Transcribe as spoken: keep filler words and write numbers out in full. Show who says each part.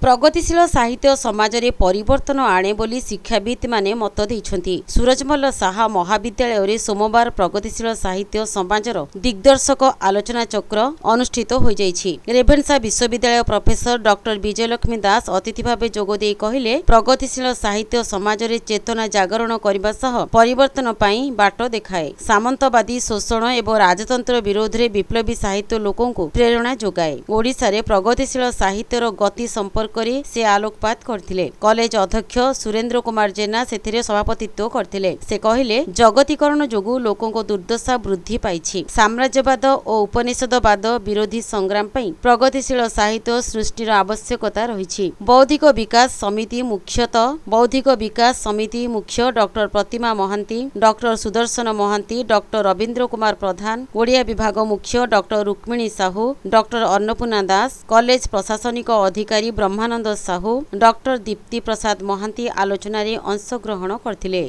Speaker 1: ପ୍ରଗତିଶୀଳ ସାହିତ୍ୟ ସମାଜରେ ପରିବର୍ତ୍ତନ ଆଣେ ବୋଲି ଶିକ୍ଷାବିତ୍ମାନେ ମତ ଦେଇଛନ୍ତି। ସୁରଜମଲ୍ଲ ସାହା ମହାବିଦ୍ୟାଳୟରେ ସୋମବାର ପ୍ରଗତିଶୀଳ ସାହିତ୍ୟ ସମାଜର ଦିଗ୍ଦର୍ଶକ ଆଲୋଚନାଚକ୍ର ଅନୁଷ୍ଠିତ ହୋଇଯାଇଛି। ରେଭେନ୍ସା ବିଶ୍ୱବିଦ୍ୟାଳୟ ପ୍ରଫେସର ଡକ୍ଟର ବିଜୟଲକ୍ଷ୍ମୀ ଦାସ ଅତିଥି ଭାବେ ଯୋଗଦେଇ କହିଲେ, ପ୍ରଗତିଶୀଳ ସାହିତ୍ୟ ସମାଜରେ ଚେତନା ଜାଗରଣ କରିବା ସହ ପରିବର୍ତ୍ତନ ପାଇଁ ବାଟ ଦେଖାଏ। ସାମନ୍ତବାଦୀ ଶୋଷଣ ଏବଂ ରାଜତନ୍ତ୍ର ବିରୋଧରେ ବିପ୍ଳବୀ ସାହିତ୍ୟ ଲୋକଙ୍କୁ ପ୍ରେରଣା ଯୋଗାଏ। ଓଡ଼ିଶାରେ ପ୍ରଗତିଶୀଳ ସାହିତ୍ୟର ଗତି ସମ୍ପର୍କରେ ସେ ଆଲୋକପାତ କରିଥିଲେ। କଲେଜ ଅଧ୍ୟକ୍ଷ ସୁରେନ୍ଦ୍ର କୁମାର ଜେନା ସେଥିରେ ସଭାପତିତ୍ୱ କରିଥିଲେ। ସେ କହିଲେ, ଜଗତୀକରଣ ଯୋଗୁଁ ଲୋକଙ୍କ ଦୁର୍ଦ୍ଦଶା ବୃଦ୍ଧି ପାଇଛି। ସାମ୍ରାଜ୍ୟବାଦ ଓ ଉପନିଷଦବାଦ ବିରୋଧୀ ସଂଗ୍ରାମ ପାଇଁ ପ୍ରଗତିଶୀଳ ସାହିତ୍ୟ ସୃଷ୍ଟିର ଆବଶ୍ୟକତା ରହିଛି। ବୌଦ୍ଧିକ ବିକାଶ ସମିତି ମୁଖ୍ୟତଃ ବୌଦ୍ଧିକ ବିକାଶ ସମିତି ମୁଖ୍ୟ ଡକ୍ଟର ପ୍ରତିମା ମହାନ୍ତି, ଡକ୍ଟର ସୁଦର୍ଶନ ମହାନ୍ତି, ଡକ୍ଟର ରବୀନ୍ଦ୍ର କୁମାର ପ୍ରଧାନ, ଓଡ଼ିଆ ବିଭାଗ ମୁଖ୍ୟ doctor Rukmini Sahu, doctor Annapurna Das, college ପ୍ରଶାସନିକ ଅଧିକାରୀ ବ୍ରହ୍ମାନନ୍ଦ ସାହୁ, ଡକ୍ଟର ଦୀପ୍ତି ପ୍ରସାଦ ମହାନ୍ତି ଆଲୋଚନାରେ ଅଂଶଗ୍ରହଣ କରିଥିଲେ।